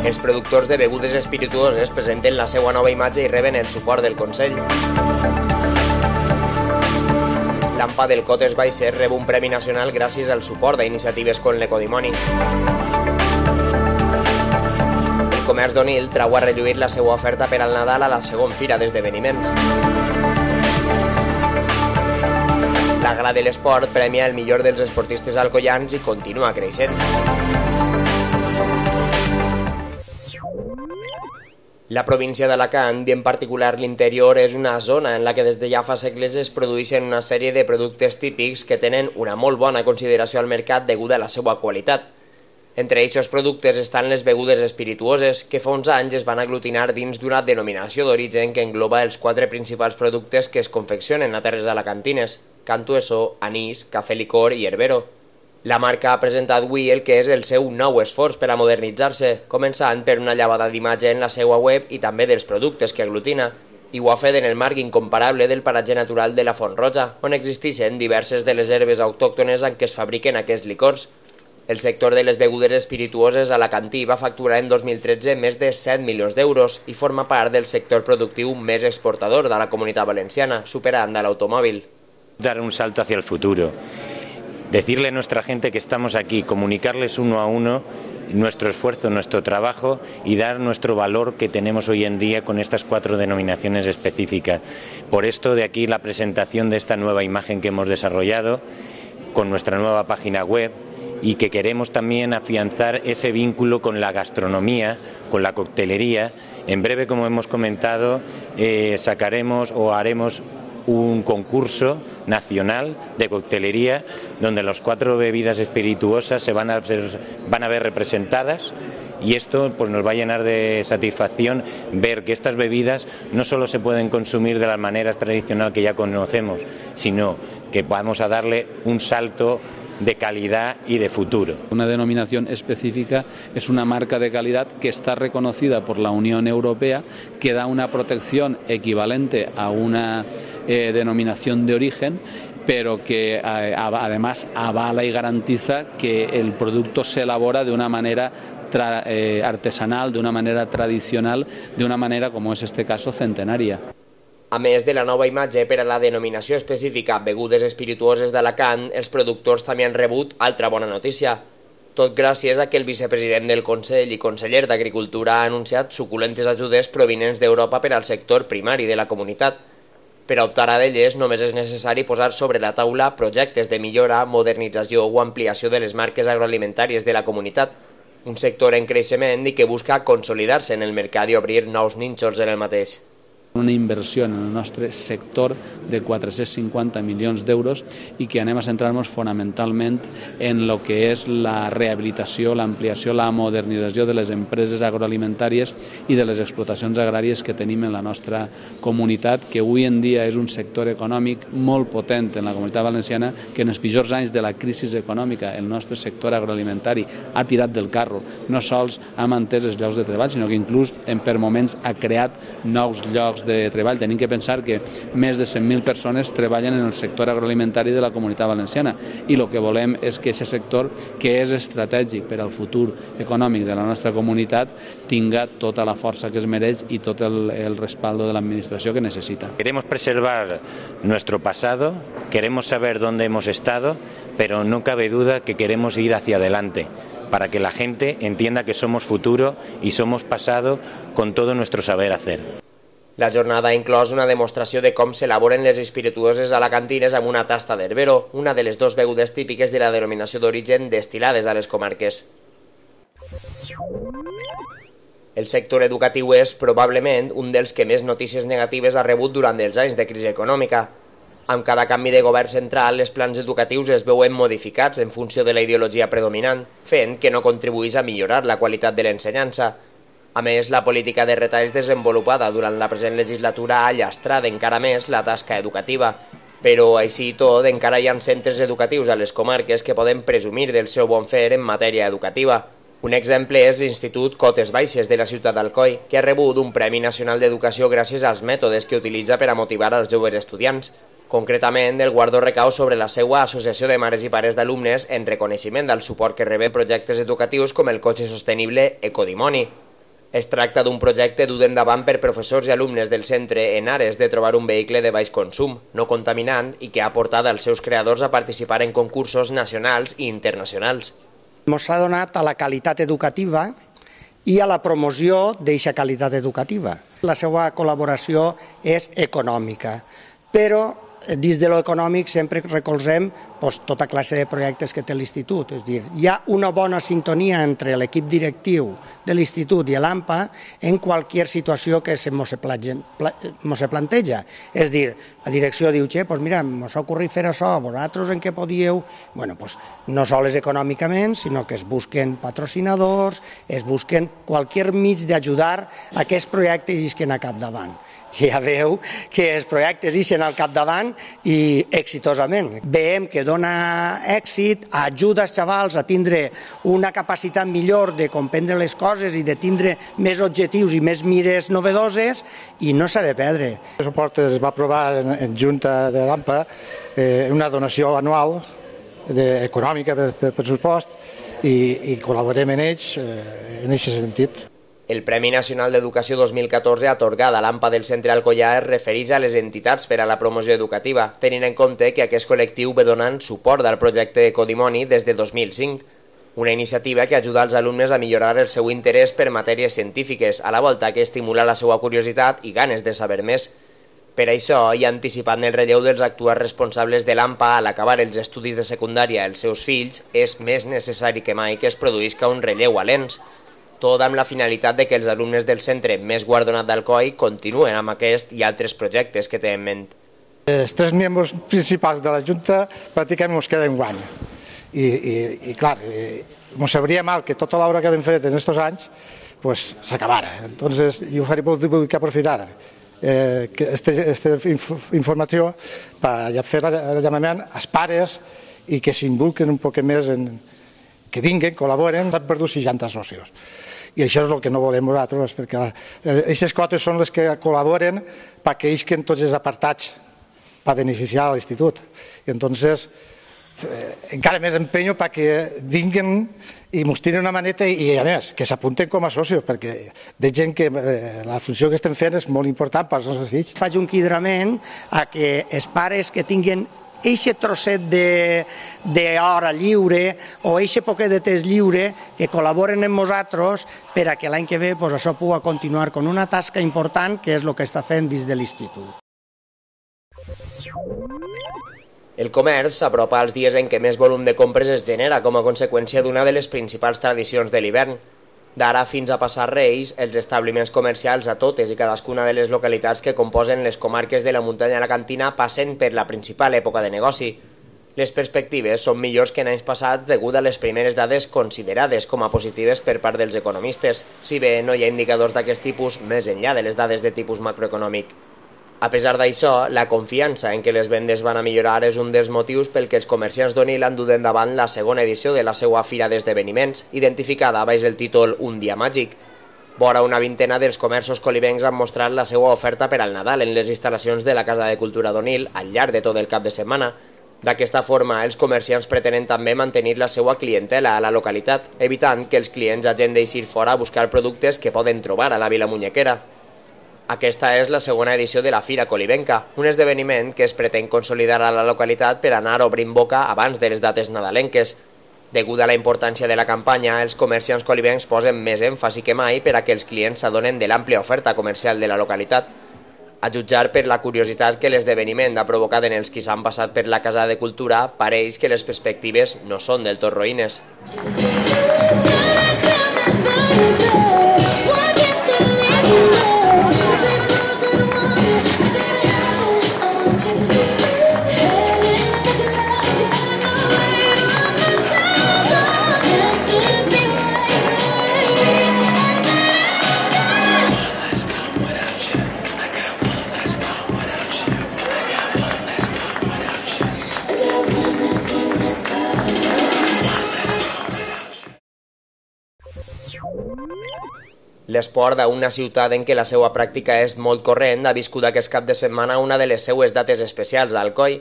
Els productors de begudes espirituoses presenten la seva nova imatge i reben el suport del Consell. L'AMPA del Cotes Baixes rep un premi nacional gràcies al suport a iniciatives com l'Ecodimoni. El comerç d'Onil trau a relluir la seva oferta per al Nadal a la segona fira d'esdeveniments. La Gala de l'Esport premia el millor dels esportistes alcoians i continua creixent. La província d'Alacant, i en particular l'interior, és una zona en la que des de ja fa segles es produeixen una sèrie de productes típics que tenen una molt bona consideració al mercat deguda a la seva qualitat. Entre aquests productes estan les begudes espirituoses, que fa uns anys es van aglutinar dins d'una denominació d'origen que engloba els 4 principals productes que es confeccionen a terres alacantines: cantueso, anís, cafè licor i herbero. La marca ha presentat avui el que és el seu nou esforç per a modernitzar-se, començant per una llevada d'imatge en la seva web i també dels productes que aglutina, i ho ha fet en el marc incomparable del paratge natural de la Font Roja, on existeixen diverses de les herbes autòctones en què es fabriquen aquests licors. El sector de les begudes espirituoses alacantí va facturar en 2013 més de 7 milions d'euros i forma part del sector productiu més exportador de la Comunitat Valenciana, superant a l'automòbil. Dar un salto hacia el futuro. Decirle a nuestra gente que estamos aquí, comunicarles uno a uno nuestro esfuerzo, nuestro trabajo y dar nuestro valor que tenemos hoy en día con estas 4 denominaciones específicas. Por esto de aquí la presentación de esta nueva imagen que hemos desarrollado con nuestra nueva página web y que queremos también afianzar ese vínculo con la gastronomía, con la coctelería. En breve, como hemos comentado, sacaremos o haremos un concurso nacional de coctelería donde las 4 bebidas espirituosas se van a ver representadas, y esto pues nos va a llenar de satisfacción ver que estas bebidas no solo se pueden consumir de la manera tradicional que ya conocemos, sino que vamos a darle un salto de calidad y de futuro. Una denominación específica es una marca de calidad que está reconocida por la Unión Europea, que da una protección equivalente a una denominación de origen, pero que además avala y garantiza que el producto se elabora de una manera artesanal, de una manera tradicional, de una manera, como es este caso, centenaria. A més de la nova imatge per a la denominació específica begudes espirituoses d'Alacant, els productors també han rebut altra bona notícia. Tot gràcies a que el vicepresident del Consell i conseller d'Agricultura ha anunciat suculentes ajudes provinents d'Europa per al sector primari de la comunitat. Per a optar a d'elles només és necessari posar sobre la taula projectes de millora, modernització o ampliació de les marques agroalimentàries de la comunitat, un sector en creixement i que busca consolidar-se en el mercat i obrir nous nínxols en el mateix. Una inversió en el nostre sector de 450 milions d'euros i que anem a centrar-nos fonamentalment en el que és la rehabilitació, l'ampliació, la modernització de les empreses agroalimentàries i de les explotacions agràries que tenim en la nostra comunitat, que avui en dia és un sector econòmic molt potent en la Comunitat Valenciana, que en els pitjors anys de la crisi econòmica el nostre sector agroalimentari ha tirat del carro. No sols ha mantès els llocs de treball, sinó que inclús per moments ha creat nous llocs de treball. Tenim que pensar que més de 100.000 persones treballen en el sector agroalimentari de la Comunitat Valenciana i el que volem és que aquest sector, que és estratègic per al futur econòmic de la nostra comunitat, tinga tota la força que es mereix i tot el respaldo de l'administració que necessita. Queremos preservar nuestro pasado, queremos saber dónde hemos estado, pero no cabe duda que queremos ir hacia adelante, para que la gente entienda que somos futuro y somos pasado con todo nuestro saber hacer. La jornada ha inclòs una demostració de com s'elaboren les espirituoses alacantines amb una tasta d'herbero, una de les 2 begudes típiques de la denominació d'origen destil·lades a les comarques. El sector educatiu és, probablement, un dels que més notícies negatives ha rebut durant els anys de crisi econòmica. Amb cada canvi de govern central, els plans educatius es veuen modificats en funció de la ideologia predominant, fent que no contribuís a millorar la qualitat de l'ensenyança. A més, la política de retalls desenvolupada durant la present legislatura ha llastrat encara més la tasca educativa. Però així i tot, encara hi ha centres educatius a les comarques que poden presumir del seu bon fer en matèria educativa. Un exemple és l'Institut Cotes Baixes de la ciutat d'Alcoi, que ha rebut un Premi Nacional d'Educació gràcies als mètodes que utilitza per a motivar als joves estudiants. Concretament, el guardó recau sobre la seva associació de mares i pares d'alumnes en reconeixement del suport que reben projectes educatius com el cotxe sostenible Ecodimoni. Es tracta d'un projecte dut endavant per professors i alumnes del centre en ares de trobar un vehicle de baix consum, no contaminant i que ha portat els seus creadors a participar en concursos nacionals i internacionals. Ens ha donat a la qualitat educativa i a la promoció d'aquesta qualitat educativa. La seva col·laboració és econòmica, però dins de l'econòmic sempre recolzem tota classe de projectes que té l'Institut. És a dir, hi ha una bona sintonia entre l'equip directiu de l'Institut i l'AMPA en qualsevol situació que se planteja. És a dir, la direcció diu, mira, ens ha ocorrit fer això, vosaltres en què podíeu? No sols econòmicament, sinó que es busquen patrocinadors, es busquen qualsevol mig d'ajudar a aquests projectes i que anar capdavant. Ja veu que els projectes ixen al capdavant i exitosament. Veiem que dona èxit, ajuda els xavals a tindre una capacitat millor de comprendre les coses i de tindre més objectius i més mires novedoses i no s'ha de perdre. El suport es va aprovar en Junta de l'AMPA una donació anual econòmica de pressupost i col·laborem en ells en aquest sentit. El Premi Nacional d'Educació 2014 atorgat a l'AMPA del Centre Alcoià es refereix a les entitats per a la promoció educativa, tenint en compte que aquest col·lectiu ve donant suport al projecte Ecodimoni des de 2005, una iniciativa que ajuda als alumnes a millorar el seu interès per matèries científiques, a la volta que estimula la seva curiositat i ganes de saber més. Per això, i anticipant el relleu dels actuals responsables de l'AMPA a l'acabar els estudis de secundària als seus fills, és més necessari que mai que es produïsca un relleu a l'ENS, tot amb la finalitat de que els alumnes del centre més guardonat d'Alcoi continuen amb aquest i altres projectes que té en ment. Els 3 membres principals de la Junta pràcticament ens queden guany. I clar, ens sabria mal que tota l'obra que hem fet en aquests anys s'acabara. Entonces, jo vull aprofitar aquesta informació per fer el llamament als pares i que s'involucren un poc més, que vinguin, col·laboren. S'han perdut 60 socis. I això és el que no volem nosaltres, perquè aquestes quotes són les que col·laboren perquè isquen tots els apartats per beneficiar l'Institut. I entonces encara més empenyo perquè vinguin i ens tiren una maneta i a més que s'apunten com a socis, perquè vegin que la funció que estem fent és molt important per als nostres fills. Faig un cridament a que els pares que tinguin eixe trosset d'hora lliure o eixe poquet de temps lliure que col·laboren amb nosaltres per a que l'any que ve això pugui continuar amb una tasca important que és el que està fent dins de l'Institut. El comerç s'apropa als dies en què més volum de compres es genera com a conseqüència d'una de les principals tradicions de l'hivern. D'ara fins a passar Reis, els establiments comercials a totes i cadascuna de les localitats que composen les comarques de la muntanya alacantina passen per la principal època de negoci. Les perspectives són millors que en anys passats degut a les primeres dades considerades com a positives per part dels economistes, si bé no hi ha indicadors d'aquest tipus més enllà de les dades de tipus macroeconòmic. A pesar d'això, la confiança en que les vendes van a millorar és un dels motius pel que els comerciants d'Onil han dut endavant la segona edició de la seva fira d'esdeveniments, identificada baix el títol Un dia màgic. Vora una vintena dels comerços colibencs han mostrat la seva oferta per al Nadal en les instal·lacions de la Casa de Cultura d'Onil al llarg de tot el cap de setmana. D'aquesta forma, els comerciants pretenen també mantenir la seva clientela a la localitat, evitant que els clients hagin d'eixir fora a buscar productes que poden trobar a la Vila Munyequera. Aquesta és la segona edició de la Fira Colibenca, un esdeveniment que es pretén consolidar a la localitat per anar obrint boca abans de les dates nadalenques. Degut a la importància de la campanya, els comerciants colibencs posen més èmfasi que mai per a que els clients s'adonen de l'àmplia oferta comercial de la localitat. A jutjar per la curiositat que l'esdeveniment ha provocat en els qui s'han passat per la Casa de Cultura, pareix que les perspectives no són del tot roïnes. L'esport d'una ciutat en què la seva pràctica és molt corrent ha viscut aquest cap de setmana una de les seues dates especials a Alcoi,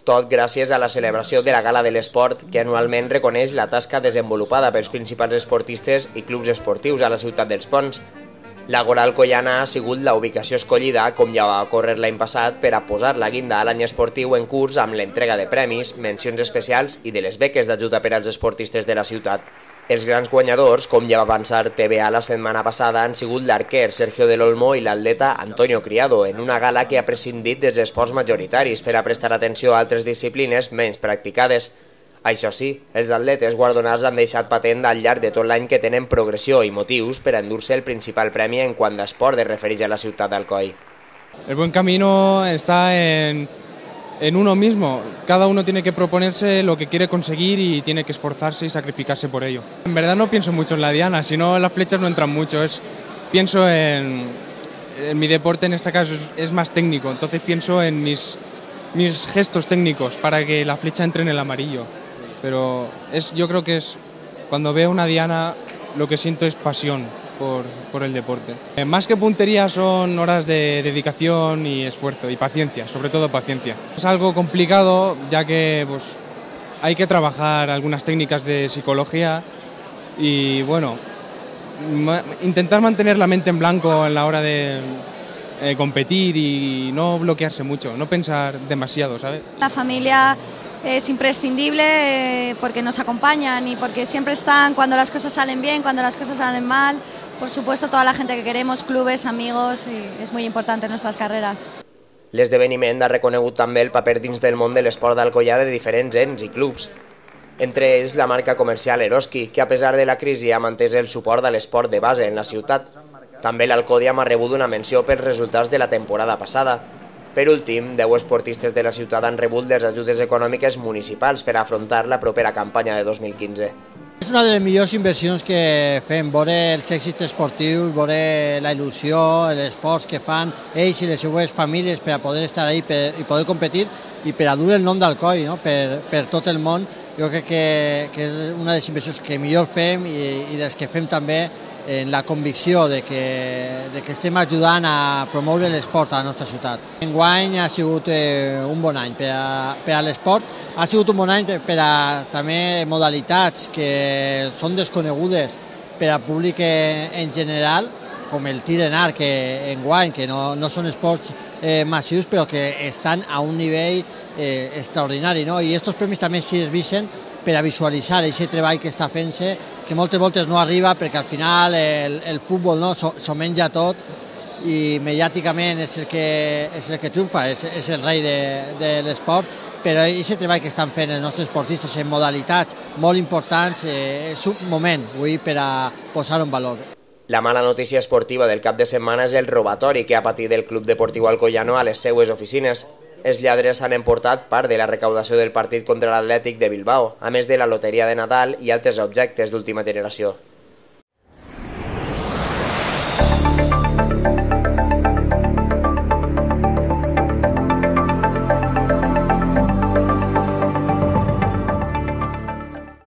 tot gràcies a la celebració de la Gala de l'Esport, que anualment reconeix la tasca desenvolupada pels principals esportistes i clubs esportius a la ciutat dels Ponts. L'Àgora alcoiana ha sigut la ubicació escollida, com ja va ocórrer l'any passat, per a posar la guinda a l'any esportiu en curs amb l'entrega de premis, mencions especials i de les beques d'ajuda per als esportistes de la ciutat. Els grans guanyadors, com ja va avançar TVA la setmana passada, han sigut l'arquer Sergio del Olmo i l'atleta Antonio Criado, en una gala que ha prescindit dels esports majoritaris per a prestar atenció a altres disciplines menys practicades. Això sí, els atletes guardonats han deixat patent al llarg de tot l'any que tenen progressió i motius per a endur-se el principal premi en quant a esport es refereix a la ciutat d'Alcoi. El buen camino está en uno mismo. Cada uno tiene que proponerse lo que quiere conseguir y tiene que esforzarse y sacrificarse por ello. En verdad no pienso mucho en la diana, si no las flechas no entran mucho. Pienso en mi deporte, en este caso es más técnico, entonces pienso en mis gestos técnicos para que la flecha entre en el amarillo. Pero yo creo que cuando veo una diana lo que siento es pasión por el deporte. Más que puntería son horas de dedicación y esfuerzo y paciencia, sobre todo paciencia. Es algo complicado ya que hay que trabajar algunas técnicas de psicología y bueno, intentar mantener la mente en blanco en la hora de competir y no bloquearse mucho, no pensar demasiado, ¿sabes? La familia es imprescindible porque nos acompañan y porque siempre están cuando las cosas salen bien, cuando las cosas salen mal. Por supuesto, toda la gente que queremos, clubes, amigos, y es muy importante en nuestras carreras. L'esdeveniment ha reconegut també el paper dins del món de l'esport d'Alcoià de diferents ens i clubs. Entre ells la marca comercial Eroski, que a pesar de la crisi ha mantès el suport a l'esport de base en la ciutat. També l'Alcòdiam ha rebut una menció pels resultats de la temporada passada. Per últim, 10 esportistes de la ciutat han rebut les ajudes econòmiques municipals per afrontar la propera campanya de 2015. És una de les millors inversions que fem, veure els èxits esportius, veure la il·lusió, l'esforç que fan ells i les seues famílies per a poder estar ahí i poder competir i per a dur el nom d'Alcoi per tot el món. Jo crec que és una de les inversions que millor fem i les que fem també en la convicció de que estem ajudant a promoure l'esport a la nostra ciutat. Enguany ha sigut un bon any per a l'esport, ha sigut un bon any per a també modalitats que són desconegudes per al públic en general, com el tir en arc enguany, que no són esports massius però que estan a un nivell extraordinari, no? I aquests premis també serveixen per a visualitzar aquest treball que està fent-se, que moltes voltes no arriba perquè al final el futbol s'ho menja tot i mediàticament és el que triomfa, és el rei de l'esport, però aquest treball que estan fent els nostres esportistes en modalitats molt importants és un moment avui per a posar-ho en valor. La mala notícia esportiva del cap de setmana és el robatori que ha patit el Club Deportiu Alcoiano a les seues oficines. Els lladres han emportat part de la recaudació del partit contra l'Atlètic de Bilbao, a més de la loteria de Nadal i altres objectes d'última generació.